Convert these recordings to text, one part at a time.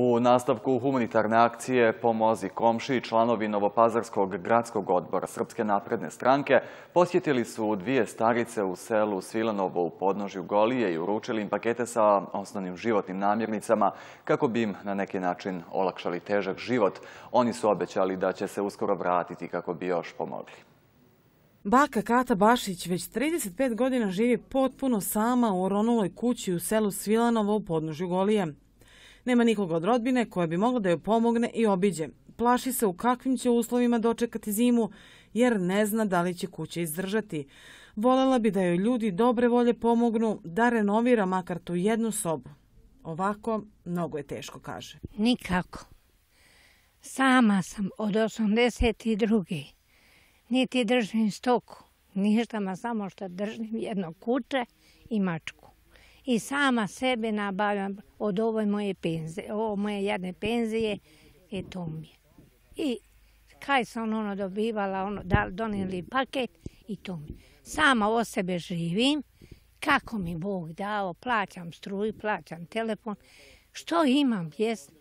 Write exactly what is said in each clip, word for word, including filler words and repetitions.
U nastavku humanitarne akcije Pomozi komšiji, članovi Novopazarskog gradskog odbora Srpske napredne stranke posjetili su dvije starice u selu Svilanovo u podnožju Golije i uručili im pakete sa osnovnim životnim namirnicama kako bi im na neki način olakšali težak život. Oni su obećali da će se uskoro vratiti kako bi još pomogli. Baka Kata Bašić već trideset pet godina živi potpuno sama u oronuloj kući u selu Svilanovo u podnožju Golije. Nema nikoga od rodbine koja bi mogla da joj pomogne i obiđe. Plaši se u kakvim će uslovima dočekati zimu jer ne zna da li će kuća izdržati. Volela bi da joj ljudi dobre volje pomognu da renovira makar tu jednu sobu. Ovako mnogo je teško, kaže. Nikako. Sama sam od osamdeset druge Niti držim stoku, ništa, ma samo što držim jedno kuće i mačku. I sama sebe nabavljam od ove moje penzije, ovo moje jedne penzije, i to mi je. I kaj sam ono dobivala, ono, donijeli paket i to mi je. Sama o sebe živim, kako mi Bog dao, plaćam struju, plaćam telefon, što imam jest.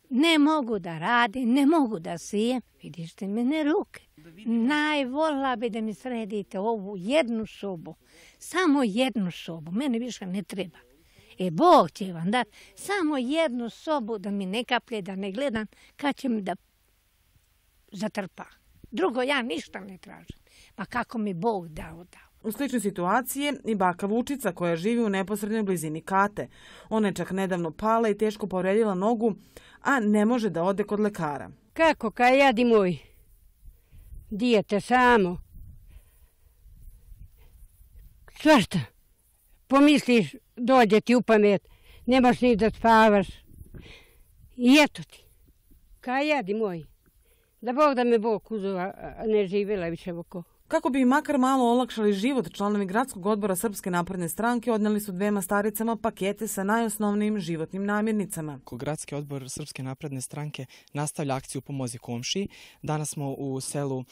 Ne mogu da radim, ne mogu da sijem, vidište mene ruke. Najvolila bi da mi sredite ovu jednu sobu, samo jednu sobu, mene više ne treba. E, Bog će vam dati samo jednu sobu da mi ne kaplje, da ne gledam kad će mi da zatrpa. Drugo, ja ništa ne tražim, pa kako mi Bog dao, dao. U sličnoj situaciji je i baka Vučica koja živi u neposrednoj blizini Kate. Ona je čak nedavno pala i teško povredila nogu, a ne može da ode kod lekara. Kako, kaj jadi moj? Dijete samo. Svašta. Pomisliš, dođe ti u pamet, nemaš ni da spavaš. I eto ti. Kaj jadi moj? Da Bog da me Bog uzeo, a ne živjela više oko. Kako bi im makar malo olakšali život, članovi gradskog odbora Srpske napredne stranke odneli su dvema staricama pakete sa najosnovnijim životnim namirnicama. Gradski odbor Srpske napredne stranke nastavlja akciju Pomozi komšiji. Danas smo u selu uh,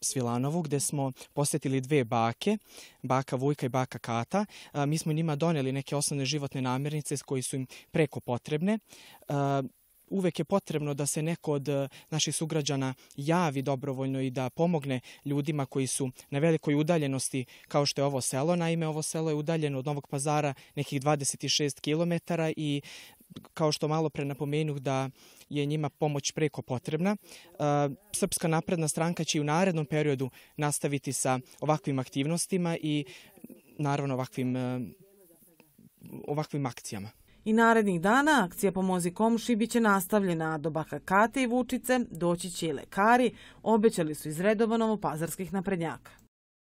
Svilanovu gdje smo posjetili dve bake, baka Vujka i baka Kata. Uh, mi smo njima donijeli neke osnovne životne namirnice koji su im preko potrebne. Uh, Uvek je potrebno da se neko od naših sugrađana javi dobrovoljno i da pomogne ljudima koji su na velikoj udaljenosti kao što je ovo selo. Naime, ovo selo je udaljeno od Novog Pazara nekih dvadeset šest kilometara i kao što malo pre napomenuh da je njima pomoć preko potrebna. Srpska napredna stranka će i u narednom periodu nastaviti sa ovakvim aktivnostima i naravno ovakvim, ovakvim akcijama. I narednih dana akcija Pomozi komšiji biće nastavljena, a do baka Kate i Vučice doći će i lekari, obećali su iz redova novopazarskih naprednjaka.